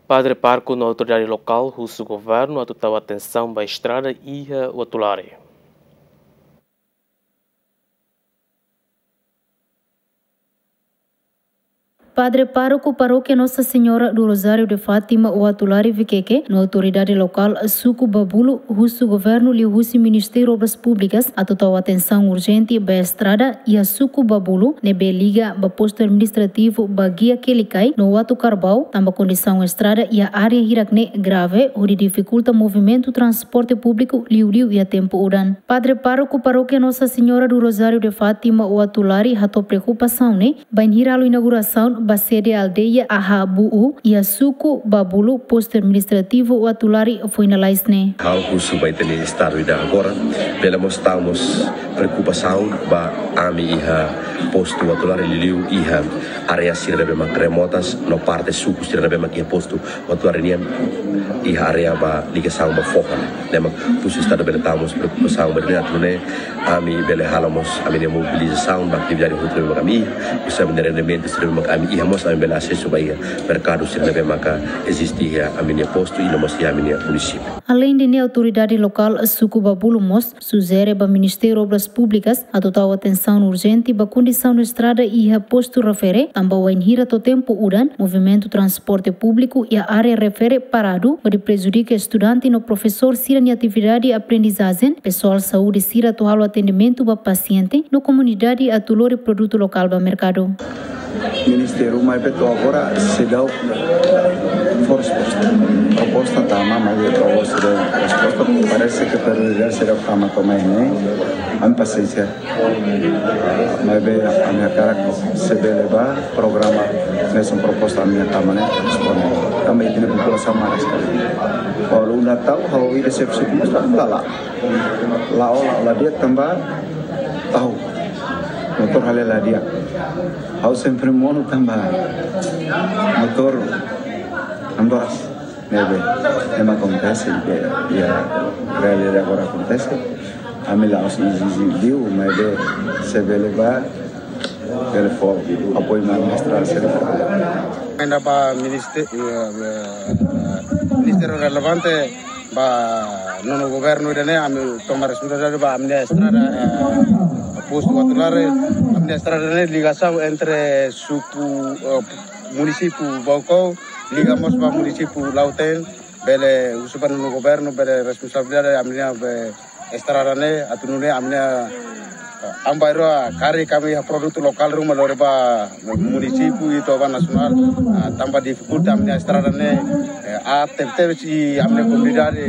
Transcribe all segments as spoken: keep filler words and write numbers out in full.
Padre pároku no autoridade lokál husu governu atu tau atensaun ba estrada iha Uatulari. Padre pároku Parókia Nossa Senhora do Rosário de Fátima Uatulari Viqueque no autoridade lokál suku Babulu husu governu liuhusi Ministériu Obras Públikas atu tau atensaun urjente ba estrada iha suku Babulu ne'ebé liga ba postu administrativu Baguia Quelicai no Uatucarbau, tanba kondisaun estrada iha área hirak-ne'e grave, hodi difikulta movimentu transporte públiku liuliu iha tempu udan. Padre pároku Parókia Nossa Senhora do Rosário de Fátima Uatulari hato'o preokupasaun ne'e bainhira halo inaugurasaun ba sede aldeia Aha Bu'u iha suku Babulu, postu administrativu Uatulari, foin lalais ne'e. Ha'u husu ba ita-nia estadu ida agora, bele mós tau mós preokupasaun ba ami iha postu Uatulari, liuliu iha área sira ne'ebé mak remotas no parte suku sira ne'ebé mak iha postu Uatulari nian iha área ba ligasaun ba foho ne'e. Ne'e mak husu estadu bele tau mós preokupasaun ba ita-nia atu nune'e ami bele halo mós ami-nia mobilizasaun ba atividade hotu ne'ebé mak ami iha, husi ami-nia rendimentu sira ne'ebé mak ami iha mós ami bele asesu ba iha merkadu sira ne'ebé maka eziste iha ami-nia postu i no mós iha ami-nia munisípiu. Aleinde ne'e, autoridade lokál suku Babulu mós sujere ba Ministériu Obras Públikas atu tau atensaun urjente ba kondisaun estrada iha postu refere, tanba wainhira to'o tempu udan, movimentu transporte públiku iha área refere paradu, hodi prejudika estudante no profesór sira-nia atividade aprendizajen, pesoál saúde sira atu halo atendimentu ba pasiente, no komunidade atu lori produtu lokál ba merkadu. Ministériu maibé to'o agora seidauk fó resposta. Proposta tama, maibé to'o agora seidauk fó resposta. Parese ke prioridade seidauk tama to'o mai ne'e. Ami pasiénsia. Maibé ami hakarak se bele ba programa mesun proposta ami tama ne'e responde. Tanba ita-nia populasaun manas sekali. Kalau unda tau, ha'u ida sep suku mós la, la, la, la, la di'ak tanba tau. Motór hale'u la di'ak. Ha'u sempre monu tanba motór andoras. Ne'ebé, ne'e mak akontese, ne'ebé, iha realidade agora akontese. Ami la'ós ezije liu, maibé se bele ba, bele fó apoiu mai estrada sira. Ainda ba ministé-, eh, eh, ministériu relevante, ba nonu governu ida-ne'e, ami toma responsabilidade ba ami-nia estrada, eh, postu Uatulari, ami-nia estrada ne'e ligasaun entre suku, eh, munisípiu Baucau, liga mós ba munisípiu Lautém, bele husu ba nonu governu, bele responsabilidade ami-nia be estrada ne'e, atu nune'e ami-nia, eh, an bainrua karik ami iha produtu lokál ruma lori ba munisípiu i to'o ba nasionál, ah, tanba difikulta ami-nia estrada ne'e, eh, aat tebetebes i ami-nia komunidade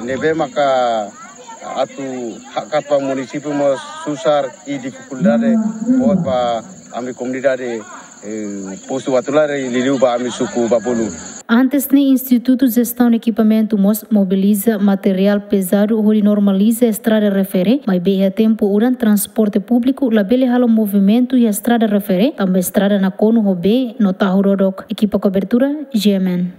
ne'ebé maka atu hakat ba munisípiu mós susar i difikulta boot ba ami komunidade, eh, postu Uatulari liuliu ba ami suku Babulu. Antes ne'e, Institutu Jestaun Ekipamentu mós mobiliza materiál pezadu hodi normaliza estrada refere, maibé iha tempu udan transporte públiku labele halo movimentu iha estrada refere, tanba estrada nakonu ho bee no tahu dodok. Ekipa kobertura, G M N.